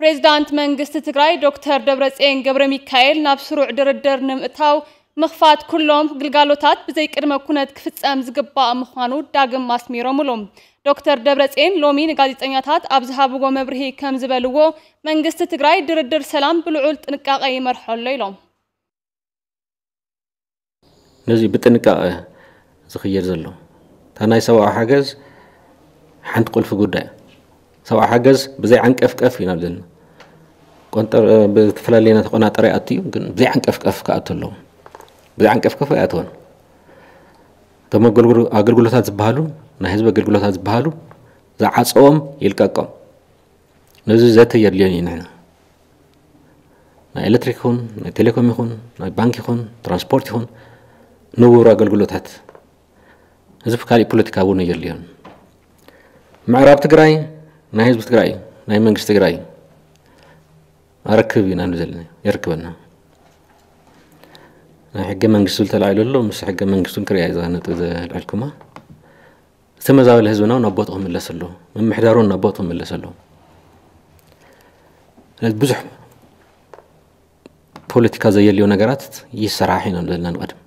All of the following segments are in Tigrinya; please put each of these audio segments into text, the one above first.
ፕሬዝዳንት መንግስቲ ትግራይ ዶክተር ደብረጽዮን ገብረ ሚካኤል ናብ ስሩዕ ድርድር ንምእታው ምኽፋት ኩሎም ግልጋሎታት ብዘይ ቅድመ ኩነት ክፍጸም ዝግባእ ምዃኑ ዳግም ኣስሚሮምሉ። ዶክተር ደብረጽዮን ሎሚ ንጋዜጠኛታት ኣብ ዝሃብዎ መብርሂ ከም ዝበልዎ መንግስቲ ትግራይ ድርድር ሰላም ብልዑል ጥንቃቄ ይመርሖ ኣሎ ኢሎም። ነዚ ብጥንቃቐ ዝኽየድ ዘሎ እታ ናይ ሰብኣዊ ሓገዝ ሓንቲ ቁልፊ ጉዳይ እያ። ሰብኣዊ ሓገዝ ብዘይ ዓንቀፍቀፍ ኢና ዘለና። ቆንጠር ብዝተፈላለየ ተቆናጠረ ይኣቱ እዩ፣ ግን ብዘይ ዓንቀፍቀፍ ክኣቱ ኣለዎ። ብዘይ ዓንቀፍቀፍ ኣይኣተወን። እቶም ኣገልግሎታት ዝበሃሉ ናይ ህዝቢ ኣገልግሎታት ዝበሃሉ ዝዓፀዎም ይልቀቆም። ነዚ ዘተ የድልዮን እዩ። ንሕና ናይ ኤሌክትሪክ ይኹን ናይ ቴሌኮም ይኹን ናይ ባንክ ይኹን ትራንስፖርት ይኹን ንቡር ኣገልግሎታት ህዝቢ ካሊእ ፖለቲካ እውን የድልዮን። ምዕራብ ትግራይ ናይ ህዝቢ ትግራይ ናይ መንግስቲ ትግራይ ኣረክብ ኢና ንብል ዘለና፣ የርክበና። ናይ ሕገ መንግስቲ ዝብል ተላዒሉ ኣሎ። ምስ ሕገ መንግስቱን ክሪያ እዛ ነጥብ ዘልዕልኩማ ዝተመዛበለ ህዝብና ናብ ቦትኡ ክምለስ ኣለዎ። ምምሕዳሩ ናብ ቦትኡ ክምለስ ኣለዎ። ስለዚ ብዙሕ ፖለቲካ ዘየልዮ ነገራት ይሰራሕ ኢና ዘለና ንቐድም።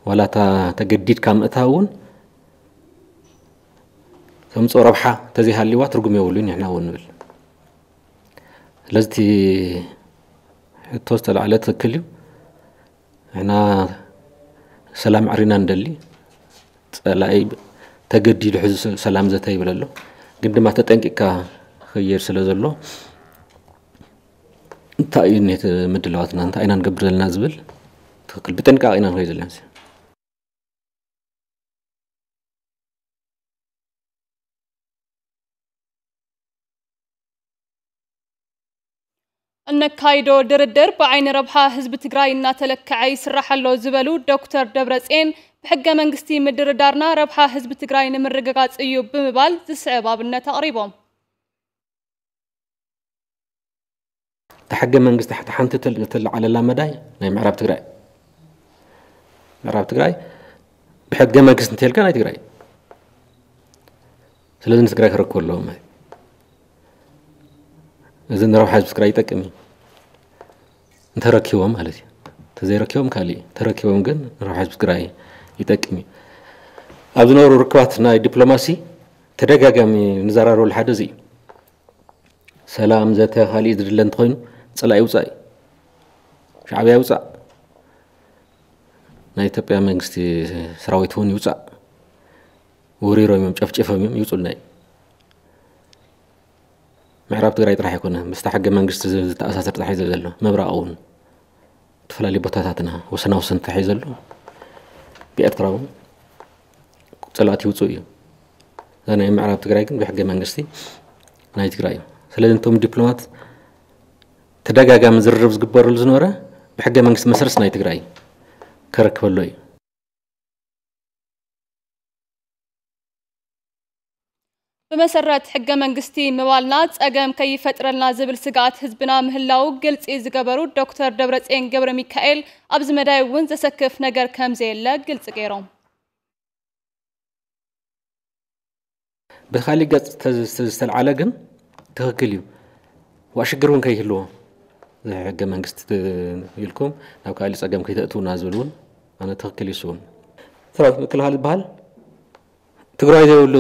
ዋላ እታ ተገዲድካ ምእታው እውን ከምፅኦ ረብሓ ተዘይሃልይዋ ትርጉም የብሉን ንሕና እውን ንብል። ስለዚ እቲ ሕቶ ዝተላዕለ ትክክል እዩ። ንሕና ሰላም ዕሪና ንደሊ፣ ፀላኢ ተገዲዱ ሕዚ ሰላም ዘተ ይብል ኣሎ። ግን ድማ ተጠንቂቕካ ክኸይድ ስለ ዘሎ እንታይ እዩ ኔት ምድላዋትና እንታይ ኢና ንገብር ዘለና ዝብል ትክክል ብጥንቃቄ ኢና ንኸይድ ዘለና። እነካይዶ ድርድር ብዓይኒ ረብሓ ህዝቢ ትግራይ እናተለክዐ ይስራሕ ኣሎ ዝበሉ ዶክተር ደብረፅዮን ብሕገ መንግስቲ ምድርዳርና ረብሓ ህዝቢ ትግራይ ንምርግጋፅ እዩ ብምባል ዝስዕብ ኣብነት ኣቕሪቦም። እታ ሕገ መንግስቲ እታ ሓንቲ እተለዓለላ መዳይ ናይ ምዕራብ ትግራይ ምዕራብ ትግራይ ብሕገ መንግስቲ እንተልካ ናይ ትግራይ ስለዚ ንትግራይ ክረክቡ ኣለዎም ማለት እዩ። እዚ ንረብሓ ህዝቢ ትግራይ ይጠቅም እዩ እንተረኪቦም ማለት እዩ። እንተዘይረኪቦም ካልእ እዩ። እንተረኪቦም ግን ንረብሓ ህዝቢ ትግራይ ይጠቅም እዩ። ኣብ ዝነበሩ ርክባት ናይ ዲፕሎማሲ ተደጋጋሚ ንዘራረበሉ ሓደ እዚ እዩ። ሰላም ዘተ ካልእ ዝድለ እንተኾይኑ ፀላኢ ይውፃእ እዩ። ሻዕብያ ይውፃእ። ናይ ኢትዮጵያ መንግስቲ ሰራዊት እውን ይውፃእ። ወሪሮም እዮም ጨፍጭፎም እዮም ይውፁልና እዩ። ምዕራብ ትግራይ ጥራሕ ኣይኮነ ምስታ ሕገ መንግስቲ ዝተኣሳሰር ጥራሕ እዩ ዘሎ ምብራቕ እውን ዝተፈላለዩ ቦታታትና ወሰና ወሰን ጥራሕ እዩ ዘሎ። ብኤርትራ እውን ፀላእቲ ይውፁ እዩ። እዛ ናይ ምዕራብ ትግራይ ግን ብሕገ መንግስቲ ናይ ትግራይ እዩ። ስለዚ እቶም ዲፕሎማት ተደጋጋሚ ዝርርብ ዝግበረሉ ዝነበረ ብሕገ መንግስቲ መሰረት ናይ ትግራይ ከረክበሎ እዩ። ብመሰረት ሕገ መንግስቲ ምባልና ፀገም ከይፈጥረልና ዝብል ስግኣት ህዝብና ምህላው ግልፂ ዝገበሩ ዶክተር ደብረፅዮን ገብረ ሚካኤል ኣብዚ መዳይ እውን ዘሰክፍ ነገር ከምዘየለ ግልፂ ገይሮም። ብካሊእ ገፅ ዝተልዓለ ግን ትክክል እዩ። ዋ ሽግር እውን ከይህልዎ ሕገ መንግስቲ ኢልኩም ናብ ካልእ ፀገም ከይተእትውና ዝብል እውን ኣነ ትክክል እዩ። እሱ እውን ሰራዊት ምክልኻል ዝበሃል ትግራይ ዘይብሉ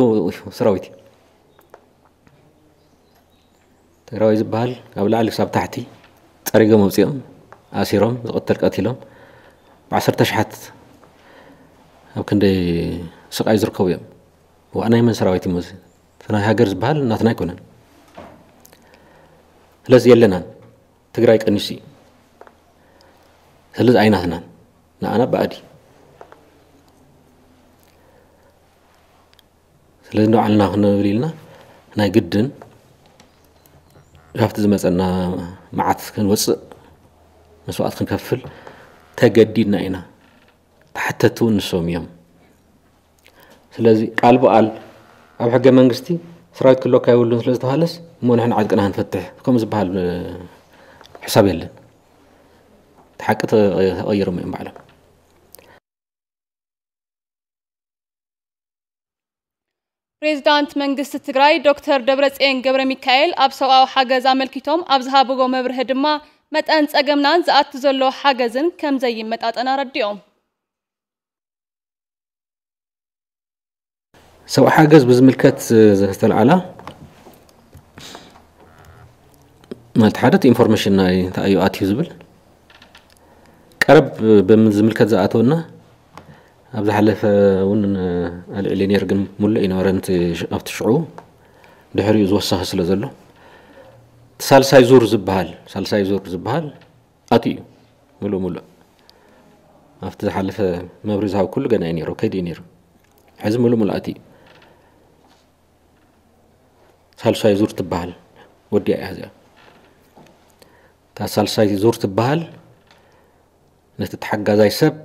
ሰራዊት እዩ። ትግራዋይ ዝበሃል ካብ ላዕሊ ክሳብ ታሕቲ ፀሪጎም ኣውፂኦም ኣሲሮም ዝቐተል ቀቲሎም ብዓሰርተ ሽሓት ኣብ ክንደይ ስቃይ ዝርከቡ እዮም። ዋእ ናይ መን ሰራዊት እዩ እዚ? እቲ ናይ ሃገር ዝበሃል ናትና ኣይኮነን። ስለዚ የለናን። ትግራይ ቀኒሱ እዩ። ስለዚ ኣይናትናን። ንኣና ባእዲ ስለዚ ንባዕልና ክንብል ኢልና ናይ ግድን ካብቲ ዝመፀና መዓት ክንወፅእ መስዋእት ክንከፍል ተገዲድና ኢና። ተሓተቲ እውን ንሶም እዮም። ስለዚ ቃል ብቃል ኣብ ሕገ መንግስቲ ሰራዊት ክህልወካ የብሉን ስለ ዝተባሃለስ እሞ ንሕና ዓጥቅና ክንፈትሕ ከምኡ ዝበሃል ሕሳብ የለን። እቲ ሓቂ ተቐይሮም እዮም ባዕሎም። ፕሬዚዳንት መንግስቲ ትግራይ ዶክተር ደብረፅዮን ገብረ ሚካኤል ኣብ ሰብኣዊ ሓገዝ ኣመልኪቶም ኣብ ዝሃብዎ መብርሂ ድማ መጠን ፀገምናን ዝኣቱ ዘሎ ሓገዝን ከም ዘይመጣጠን ኣረዲኦም። ሰብኣዊ ሓገዝ ብዝምልከት ዝተለዓላ ማለት ሓደ ኢንፎርሜሽን ናይ እንታይ እዩ ኣትዩ ዝብል ቀረብ ብዝምልከት ዝኣተወና ኣብ ዝሓለፈ እውን ኣልዒለ ነይር ግን ሙሉእ ይነበረ ኣብቲ ሽዑ ድሕሪኡ ዝወሰኸ ስለ ዘሎ ሳልሳይ ዙር ዝበሃል ሳልሳይ ዙር ዝበሃል ኣትዩ እዩ ሙሉእ ሙሉእ ኣብቲ ዝሓለፈ መብሪ ዝሃብ ኩሉ ገና እዩ ነይሩ ከይዲ እዩ ነይሩ ሕዚ ሙሉእ ሙሉእ ኣትዩ ሳልሳይ ዙር ትበሃል ወዲያ እያ እዚኣ እታ ሳልሳይ ዙር ትበሃል ነቲ ተሓጋዛይ ሰብ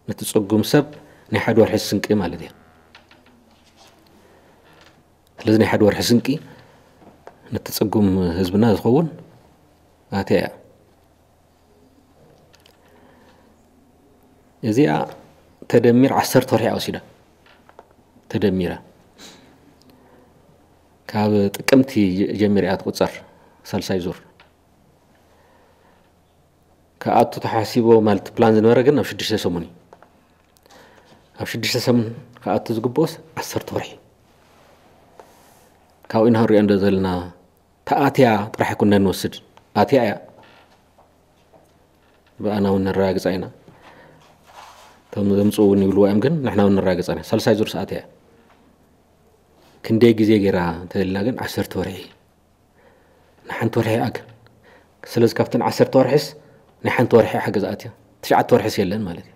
ነቲ ፅጉም ሰብ ናይ ሓደ ወርሒ ስንቂ ማለት እያ ስለዚ ናይ ሓደ ወርሒ ስንቂ ነቲ ፅጉም ህዝብና ዝኸውን ኣትያ እያ እዚኣ ተደሚር ዓሰርተ ወርሒ ወሲዳ ተደሚራ ካብ ጥቅምቲ ጀሚር እያ ትቁፀር ሳልሳይ ዙር ክኣቱ ተሓሲቦ ማለት ፕላን ዝነበረ ግን ኣብ ሽዱሽተ ሰሙን እዩ ኣብ ሽዱሽተ ሰሙን ክኣቱ ዝግብኦስ ዓሰርተ ወርሒ ካብኡ ኢና ንሪኦ እንደ ዘለና ተኣትያ ጥራሕ ኩና ንወስድ ኣትያ እያ ብኣና እውን ነረጋግፃ ኢና እቶም ዘምፅኡ እውን ይብልዎ እዮም ግን ንሕና እውን ነረጋግፃ ኢና ሳልሳይ ዙር ሰኣት እያ ክንደይ ግዜ ገይራ እንተልና ግን ዓሰርተ ወርሒ ንሓንቲ ወርሒ ኣክ ስለዚ ካብተን ዓሰርተ ወርሒስ ናይ ሓንቲ ወርሒ ሓገዝ ኣትያ ትሽዓተ ወርሒስ የለን ማለት እዩ